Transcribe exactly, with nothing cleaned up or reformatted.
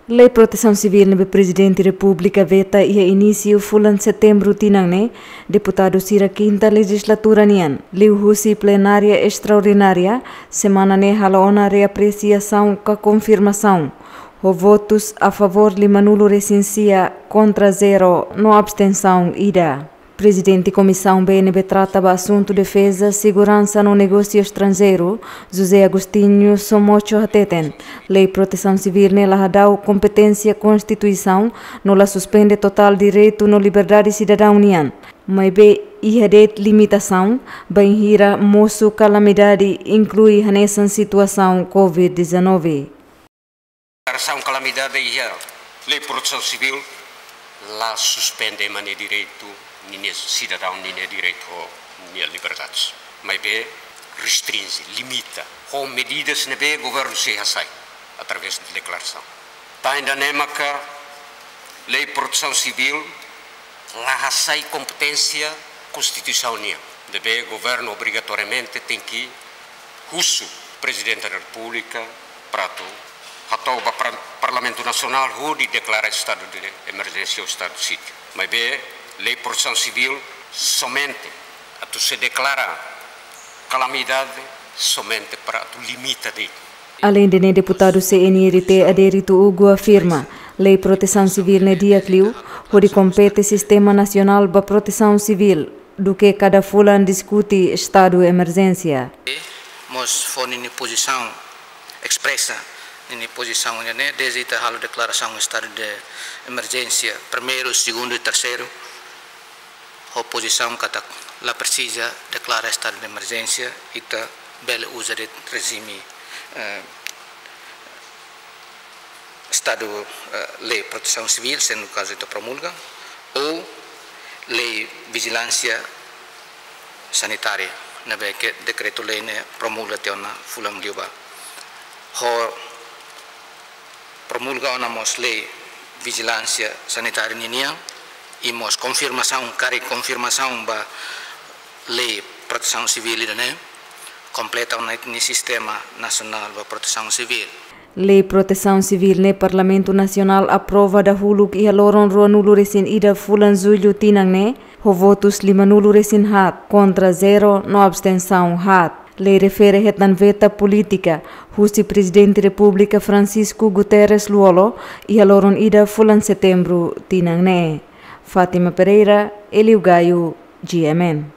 Lei Protesaun Sivíl ne'ebé Prezidente Repúblika veta iha inísiu fulan Setembru tinan ne'e, deputadu sira kinta lejizlatura nian, liuhusi plenária estraordinária, semana ne'e halo ona reapresiasaun ka konfirmasaun, ho votus a favór limanulu resin sia, kontra zero, no abstensaun ida. Prezidente Komisaun B ne'ebé trata ba asuntu defeza, seguransa no negósiu estranjeiru, José Agostinho Somocho hateten, Lei Protesaun Sivíl ne'e la hadau kompeténsia Konstituisaun, no la suspende totál direitu no liberdade sidadaun nian. Maibé iha de'it limitasaun, bainhira mosu kalamidade, inklui hanesan situasaun covid dezanove. Deklarasaun kalamidade iha Lei Protesaun Sivíl la suspende ema nia direitu, ninia sidadaun ninia direitu ho nia liberdade. Maibé restrinje, limita, ho medidas ne'ebé governu sei hasai, através de deklarasaun. Tanba ida-ne'e maka Lei Protesaun Sivíl la hasai kompeténsia Konstituisaun nian. Ne'ebé governu obrigatoriamente tenke husu Prezidente da Repúblika para atu hato'o ba pra-, Parlamentu Nasionál hodi deklara estadu de emerjénsia ou estadu de sítio. Maibé Lei Protesaun Sivíl somente atu sei deklara kalamidade somente para atu limita de'it. Aleinde ne'e, deputadu C N R T Adérito Hugo afirma, Lei Protesaun Sivíl ne'e di'ak liu, hodi kompete sistema nasionál ba protesaun sivíl, duké kada fulan diskute estadu emerjénsia. Mós fó ninia pozisaun, espresa ninia pozisaun ne'e, dezde ita halo deklarasaun estadu de emerjénsia primeiru, segundu i terseiru, ho pozisaun katak la presiza deklara estadu de emerjénsia, ita bele uza de'it rejime, eh, estadu, eh, Lei Protesaun Sivíl, se no kazu ita promulga, ou Lei Vijilánsia Sanitária, ne'ebé ke dekretu-lei ne'e promulga tiha ona fulan liubá. Ho promulga ona mós Lei Vijilánsia Sanitária ninian, i mós konfirmasaun, karik konfirmasaun ba Lei Protesaun Sivíl ida-ne'e, kompleta ona ita-nia sistema nasionál ba protesaun sivíl. Lei Protesaun Sivíl ne'e Parlamentu Nasionál aprova dahuluk iha loron ruanulu resin ida fulan Jullu tinan ne'e, ho votus limanulu resin haat, kontra zero, no abstensaun haat. Lei refere hetan veta polítika husi Prezidente Repúblika Francisco Guterres Lú-Olo iha loron ida fulan Setembru tinan ne'e. Fátima Pereira, Elio Gaio, G M N.